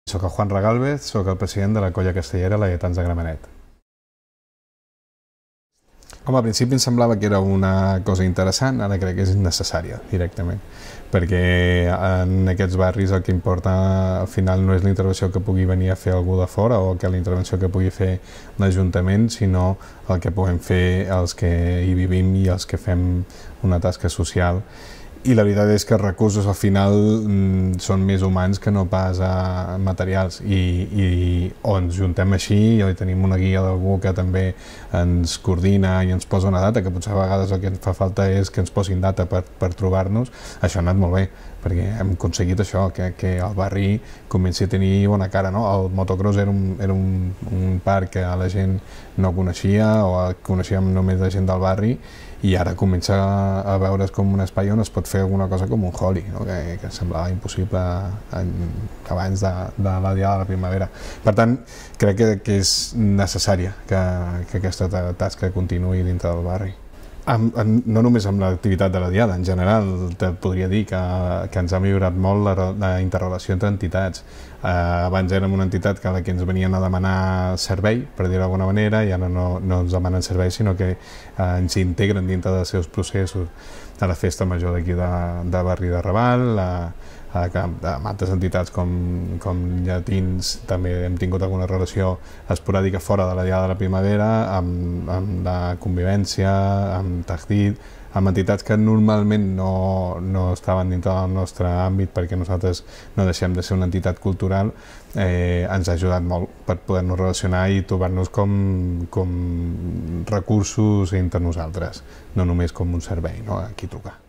Soc el Juan Regalvez, soc el president de la colla castellera Laietans de Gramenet. Home, al principi em semblava que era una cosa interessant, ara crec que és innecessària, directament, perquè en aquests barris el que importa al final no és la intervenció que pugui venir a fer algú de fora o que la intervenció que pugui fer l'Ajuntament, sinó el que puguem fer els que hi vivim i els que fem una tasca social. I la veritat és que els recursos al final són més humans que no pas materials i o ens juntem així o tenim una guia d'algú que també ens coordina i ens posa una data, que potser a vegades el que ens fa falta és que ens posin data per trobar-nos. Això ha anat molt bé, perquè hem aconseguit això, que el barri comenci a tenir bona cara, no? El motocross era un parc que la gent no coneixia o coneixíem només la gent del barri, i ara comença a veure's com un espai on es pot fer alguna cosa com un Holi, no? que semblava impossible abans de la Diada de la Primavera. Per tant, crec que és necessària que aquesta tasca continuï dintre del barri. No només amb l'activitat de la Diada, en general te podria dir que ens ha millorat molt la interrelació entre entitats. Abans érem una entitat que ens venien a demanar servei, per dir-ho d'alguna manera, i ara no ens demanen servei, sinó que ens integren dintre dels seus processos a la festa major d'aquí de Barri de Raval, amb altres entitats com Llatins també hem tingut alguna relació esporàdica fora de la Diada de la Primavera, amb la Convivència, amb Tajdid, amb entitats que normalment no estaven dintre del nostre àmbit perquè nosaltres no deixem de ser una entitat cultural. Ens ha ajudat molt per poder-nos relacionar i trobar-nos com recursos entre nosaltres, no només com un servei, no? A qui trucar.